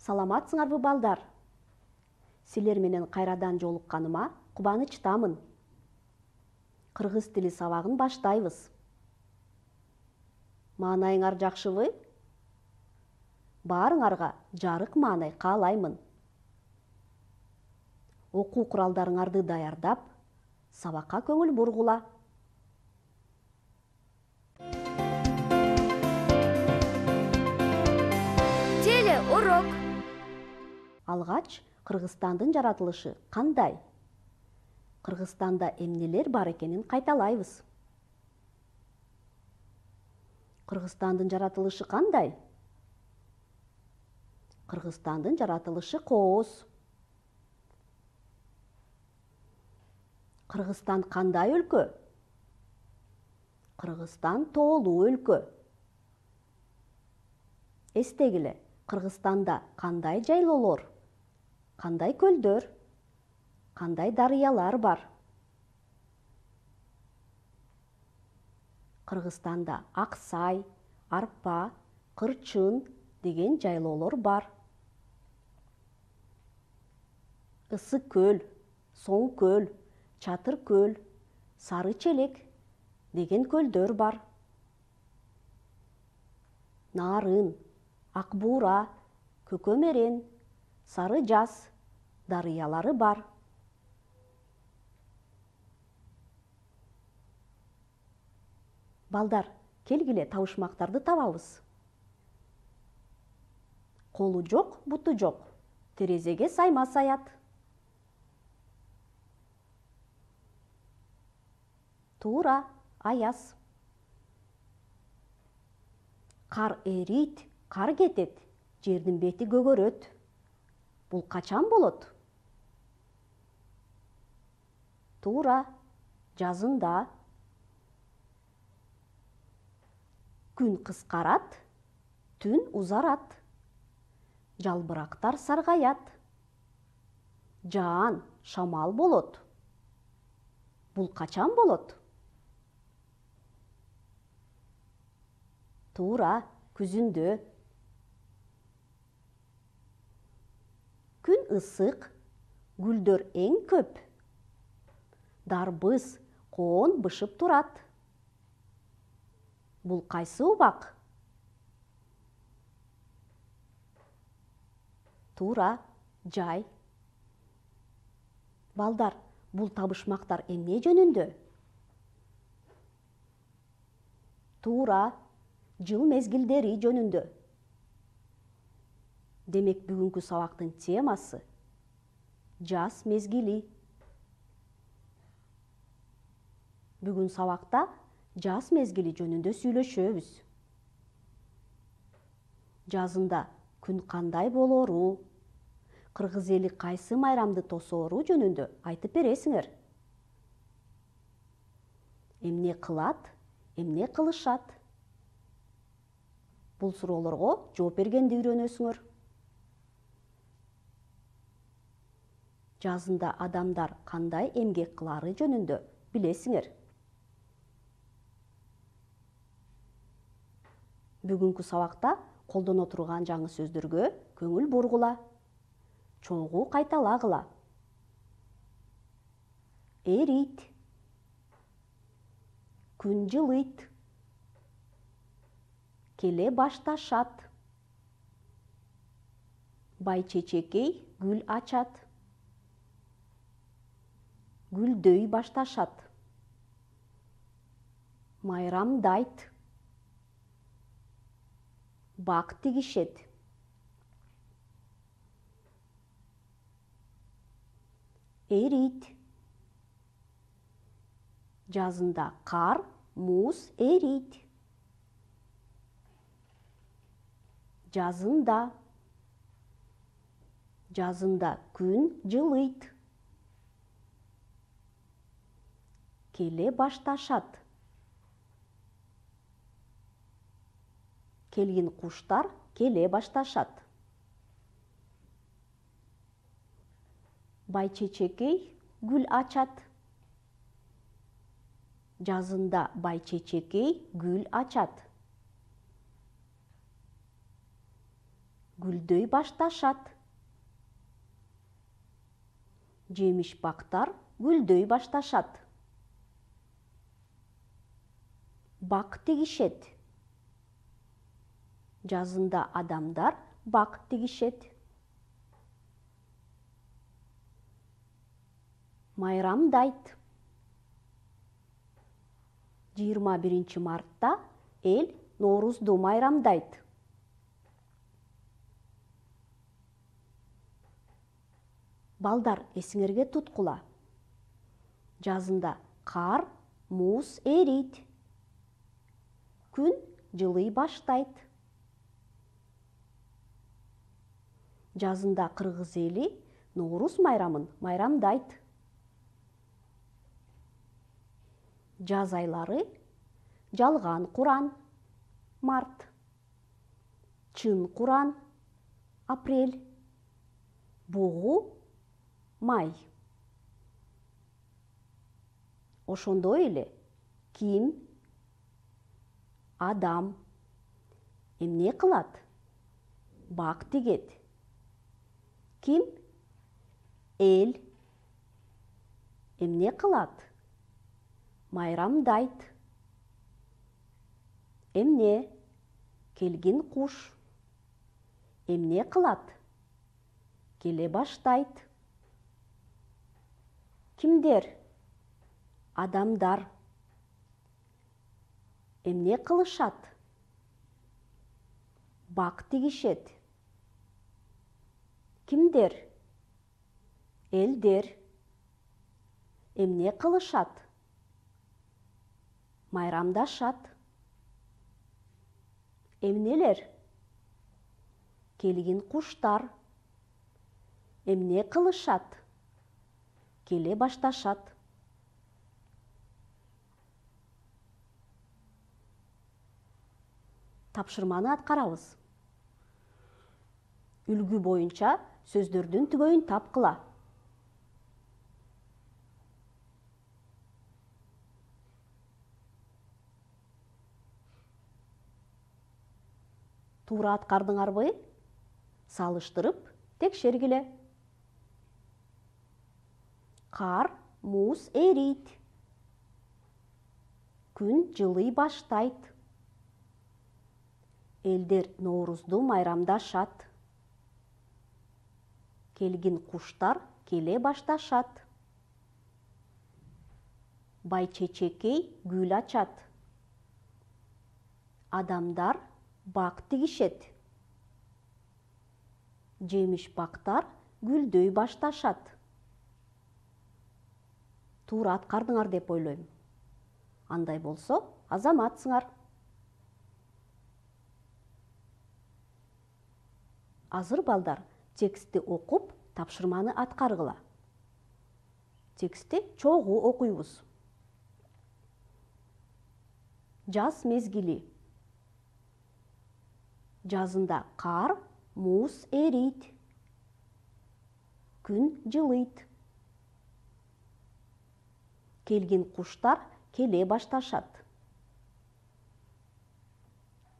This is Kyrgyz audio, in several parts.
Саламатсыңарбы балдар? Силер менен кайрадан жолукканыма кубанычтамын. Кыргыз тили сабагын баштайбыз. Маанайыңар жакшыбы? Баарыңарга жарык маанай каалаймын. Окуу куралдарыңарды даярдап, сабакка көңүл бургула. Телеурок. Алгач, Кыргызстандын жаратылышы кандай? Кыргызстанда эмнелер бар экенин кайталайбыз. Кыргызстандын жаратылышы кандай? Кыргызстандын жаратылышы кооз. Кыргызстан кандай өлкө? Кыргызстан тоолуу өлкө. Эстегиле, Кыргызстанда кандай жайлоолор, кандай көлдөр, кандай дарыялар бар? Кыргызстанда Аксай, Арпа, Кырчын деген жайлоолор бар. Ысык көл, Соң көл, Чатыр көл, Сары Челек деген көлдөр бар. Нарын, Ак Буура, Көкөмерен, Сары Жаз дарыялары бар. Балдар, келгиле табышмактарды табабыз. Колу жок, буту жок, терезеге сайма саят. Туура, аяз. Кар эрийт, кар кетет, жердин бети көгөрөт. Бул качан болот? Туура, жазында. Күн кыскарат, түн узарат. Жалбырактар саргаят. Жаан, шамал болот. Бул качан болот? Туура, күзүндө. Күн ысык, гүлдөр эң көп. Дарбыз, коон бышып турат. Бул кайсы убак? Туура, жай. Балдар, бул табышмактар эмне жөнүндө? Туура, жыл мезгилдери жөнүндө. Демек, бүгүнкү сабактын темасы жаз мезгили. Бүгүн сабакта жаз мезгили жөнүндө сүйлөшөбүз. Жазында күн кандай болору, кыргыз эли кайсы майрамды тосоору жөнүндө айтып бересиңер. Эмне кылат, эмне кылышат? Бул суроолорго жооп бергенди үйрөнөсүңөр. Жазында адамдар кандай эмгек кылаары жөнүндө билесиңер. Бүгүнкү сабакта колдоно турган жаңы сөздөргө көңүл бургула. Чогуу кайталагыла. Эрийт. Күн жылыйт. Келе башташат. Байчечекей гүл ачат. Гүлдөй башташат. Майрамдайт. Бак тигишет. Эрийт. Жазында кар, муз эрийт. Жазында. Жазында күн жылыйт. Келе башташат. Келгин куштар келе башташат. Байчечекей гүл ачат. Жазында байчечекей гүл ачат. гүлдөй башташат. Жемиш бактар гүлдөй башташат. Бак тигишет. Жазында адамдар бак тигишет. Майрамдайт. 21 мартта эл Ноорузду майрамдайт. Балдар, эсиңерге туткула. Жазында кар, муз эрийт. Күн жылый баштайт. Жазында кыргыз эли Ноорус майрамын майрамдайт. Жаз айлары жалган Куран март, чын Куран апрель, бугу май. Ошондой эле ким, адам эмне кылат? Бак тигет. Ким? Эл эмне кылат? Майрамдайт. Эмне? Келгин куш. Эмне кылат? Келе баштайт. Кимдер? Адамдар. Эмне кылышат? Бак тигишет. Кимдер? Элдер. Эмне кылышат? Майрамдашат. Эмнелер? Келгин куштар. Эмне кылышат? Келе башташат. Тапшырманы аткарабыз. Үлгү боюнча сөздөрдүн түбөйүн тапкыла. Туура аткардыңарбы? Салыштырып, текшергиле. Кар, муз эрийт. Күн жылый баштайт. Элдер Ноорузду майрамдашат. Келгин куштар келе башташат. Байчечекей гүл ачат. Адамдар бак тигишет. Жемиш бактар гүлдөй башташат. Туура аткардыңар деп ойлойм. Андай болсо, азаматсыңар. Азыр балдар, текстти окуп, тапшырманы аткаргыла. Текстти чогуу окуйбуз. Жаз мезгили. Жазында кар, муз эрийт. Күн жылыйт. Келгин куштар келе башташат.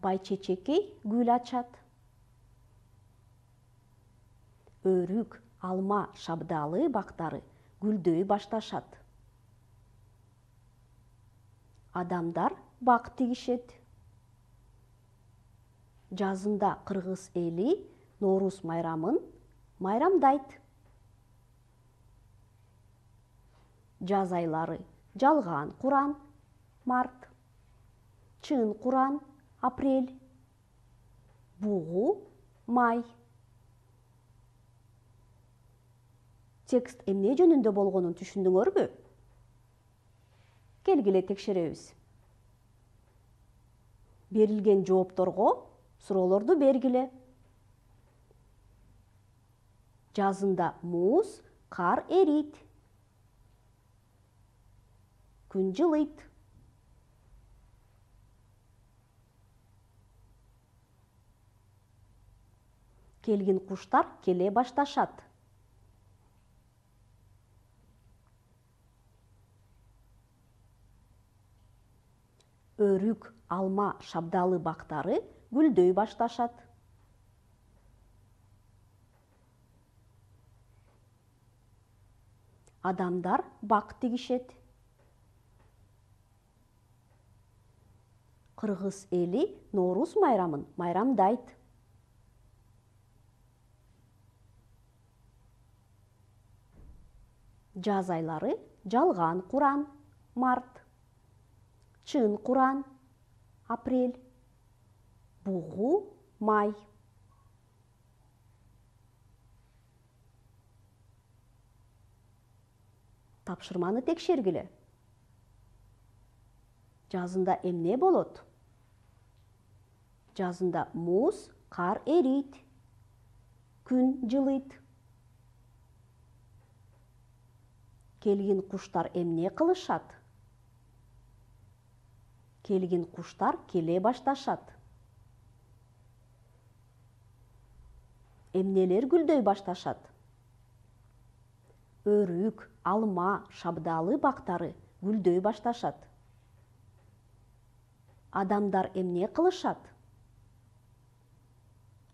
Байчечекей гүл ачат. Өрүк, алма, шабдалы бактары гүлдөй башташат. Адамдар бак тигишет. Жазында кыргыз эли Ноорус майрамын майрамдайт. Жаз айлары жалган Куран март, чын Куран апрель, бугу май. Текст эмне жөнүндө болгонун түшүндүңөрбү? Келгиле текшеребиз. Берилген жоопторго суроолорду бергиле. Жазында муз, кар эрийт. Күн жылыйт. Келгин куштар келе башташат. Өрүк, алма, шабдалы бактары гүлдөй башташат. Адамдар бак тигишет. Кыргыз эли Ноорус майрамын майрамдайт. Жаз айлары жалган Куран март, чын Куран апрель, бугу май. Тапшырманы текшергиле. Жазында эмне болот? Жазында муз, кар эрийт, күн жылыйт. Келгин куштар эмне кылышат? Келгин куштар келе башташат. Эмнелер гүлдөй башташат? Өрүк, алма, шабдалы бактары гүлдөй башташат. Адамдар эмне кылышат?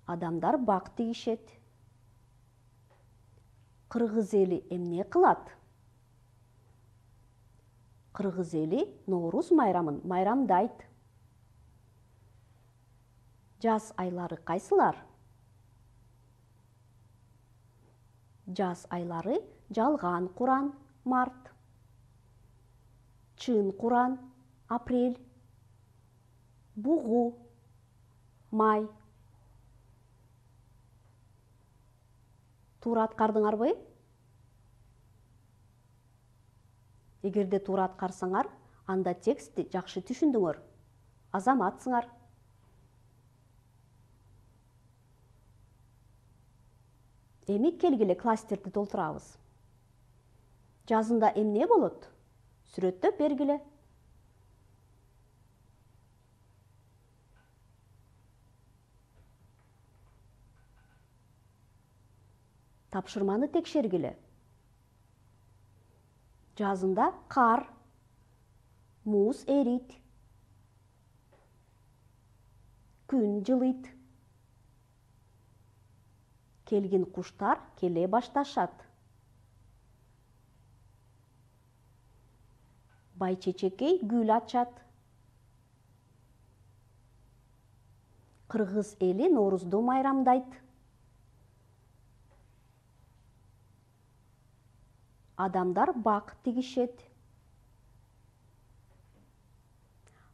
Адамдар бак тигишет. Кыргыз эли эмне кылат? Кыргыз эли Ноорус майрамын майрамдайт. Жаз айлары кайсылар? Жаз айлары жалган Куран март, чын Куран апрель, бугу май. Туура аткардыңарбы? Эгерде туура аткарсаңар, анда текстти жакшы түшүндүңөр. Азаматсыңар. Эми келгиле кластерди толтурабыз. Жазында эмне болот? Сүрөттөп бергиле. Тапшырманы текшергиле. Жазында кар, муз эрийт, күн жылыйт. Келгин куштар келе башташат. Байчечекей гүл ачат. Кыргыз эли Ноорузду майрамдайт. Адамдар бак тигишет.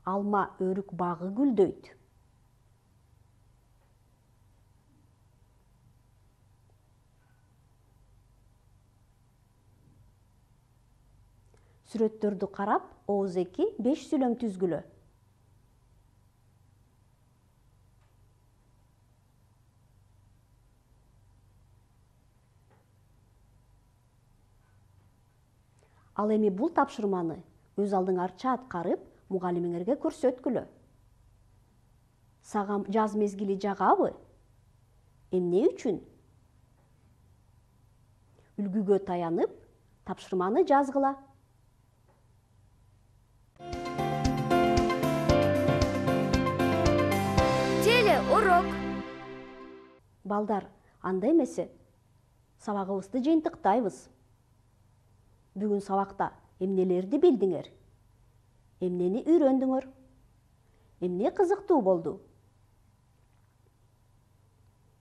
Алма өрүк багы гүлдөйт. Сүрөттөрдү карап, ооз-эки 5 сүйлөм түзгүлө. Ал эми бул тапшырманы өз алдыңарча аткарып, мугалимиңерге көрсөткүлө. Сага жаз мезгили жагабы? Эмне үчүн? Үлгүгө таянып, тапшырманы жазгыла. Урок. Балдар, анда эмесе сабагыбызды жыйынтыктайбыз. Бүгүн сабакта эмнелерди билдиңер? Эмнени үйрөндүңөр? Эмне кызыктуу болду?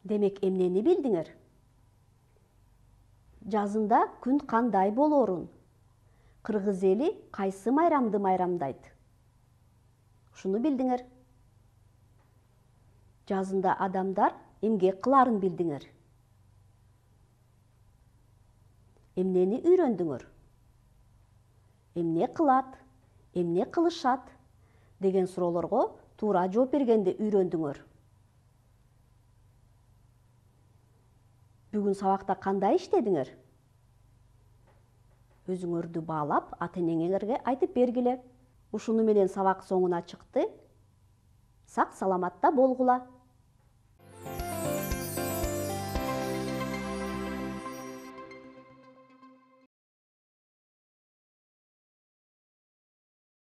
Демек, эмнени билдиңер? Жазында күн кандай болоорун? Кыргыз эли кайсы майрамды майрамдайт? Ушуну билдиңер. Жазында адамдар эмгек кыларын билдиңер. Эмнени үйрөндүңөр? Эмне кылат, эмне кылышат деген суроолорго туура жооп бергенди үйрөндүңөр. Бүгүн сабакта кандай иштедиңер? Өзүңөрдү баалап, ата-энеңерге айтып бергиле. Ушуну менен сабак соңуна чыкты. Сак саламатта болгула.